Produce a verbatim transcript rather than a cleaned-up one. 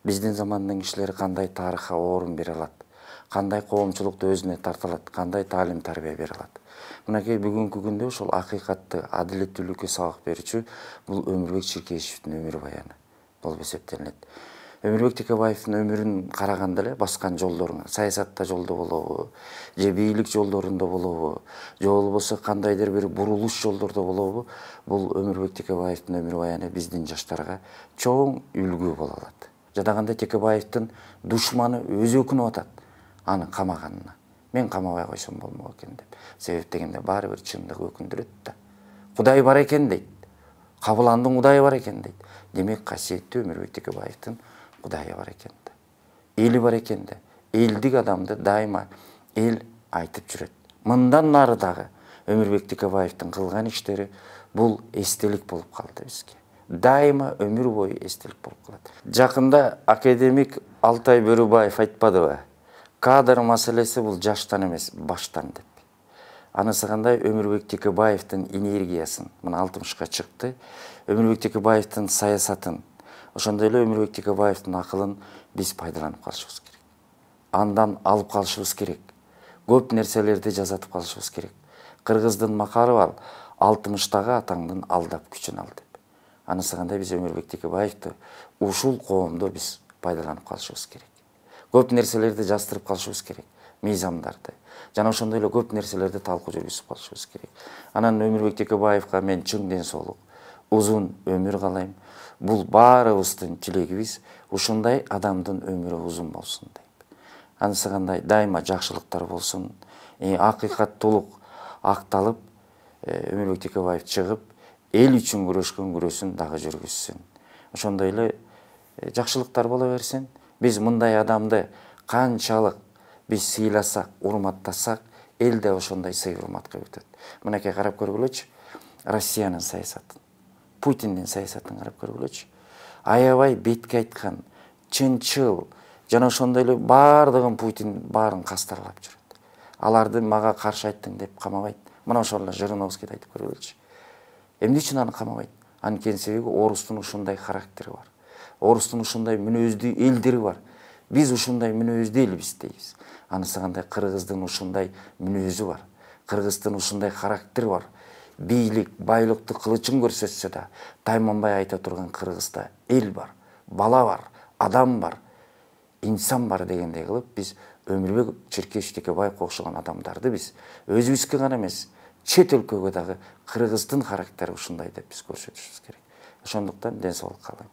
биздин замандын кишилери кандай тарыхка орун бере алат, кандай коомчулукту өзүнө тарта алат, кандай таалим тарбия бере алат. Мынакей бүгүнкү күндө ушул акыйкатты, адилеттүүлүккө сабак берүүчү бул Өмүрбек Чиркешевдин өмүр баяны болуп эсептелинет. Өмүрбек Текебаевдин өмүрүн караганда эле баскан жолдорун, саясатта жолдо болобу, же бийлик жолдорунда болобу, же болбосо кандайдыр бир бурулуш жолдордо болобу, бул Өмүрбек Текебаевдин өмүр баяны биздин жаштарга чоң үлгү боло алат. Жадаганда Текебаевдин душманы өзү өкүнүп атат аны камаганына. Мен камабай койсом болмок экен деп. Себеп дегенде баары бир чындык өкүндүрөт да. Кудай бар экен дейт. Кабыландын Кудайы бар экен дейт. Демек касиеттүү Өмүрбек Текебаевдин Кудайы бар экен да. Эли бар экен да. Элдик адамды дайыма эл айтып жүрөт. Мындан нары дагы Өмүрбек Текебаевдин кылган иштери бул эстелик болуп калды бизге. Дайыма өмүр бою эстелик болуп калат. Жакында академик Алтай Бөрүбаев айтпадыбы? Кадр маселеси бул жаштан эмес, баштан деп. Анысы кандай Өмүрбек Текебаевдин энергиясын, мына алтымышка чыкты, Өмүрбек Текебаевдин саясатын, ошондой эле Өмүрбек Текебаевдин акылын биз пайдаланып калышыбыз керек. Андан алып калышыбыз керек. Көп нерселерди жазатып калышыбыз керек. Кыргыздын макалы бар, алтымыштагы атаңдын алдап күчүн ал деп. Анысы кандай биз Өмүрбек Текебаевди ушул коомдо биз пайдаланып калышыбыз керек. Көп нерселерди жаздырып калышыбыз керек, мыйзамдарды. Жана ошондой эле көп нерселерди талкуу жүргүзүп калышыбыз керек. Анан Өмүрбек Текебаевга мен чың ден соолук, узун өмүр каалайм. Бул баарыбыздын тилегибиз ушундай адамдын өмүрү узун болсун дейт. Анысы кандай дайыма жакшылыктар болсун, акыйкаттуулук акталып, Өмүрбек Текебаев чыгып, эл үчүн күрөшкөн күрөшүн дагы жүргүзсүн. Ошондой эле жакшылыктар боло берсин. Биз мындай адамды канчалык биз сыйласак, урматтасак, эл да ошондой сый урматка өтөт. Мынакей карап көргүлөчү, Россиянын саясатын, Путиндин саясатын карап көргүлөчү. Аябай бетке айткан, чынчыл, жана ошондой эле баардыгын Путин баарын кастарлап жүрөт. Аларды мага каршы айттың деп камабайт. Мына ошол эле Жириновскийди айтып көргүлөчү. Эмне үчүн аны камабайт? Анткени себеби орустун ушундай характери бар. Орустун ушундай мүнөздүү элдери бар. Биз ушундай мүнөздүү элбиз дейбиз. Анысы кандай кыргыздын ушундай мүнөзү бар. Кыргыздын ушундай характери бар. Бийлик, байлыкты кылычын көрсөтсө да, тайманбай айта турган Кыргызда эл бар, бала бар, адам бар, инсан бар дегендей кылып биз Өмүрбек Чиркешев Текебаевге окшогон адамдарды биз өзүбүзгө гана эмес, чет өлкөгө дагы Кыргыздын характери ушундай деп биз көрсөтүшүбүз керек. Ошондуктан ден соолук каалайм.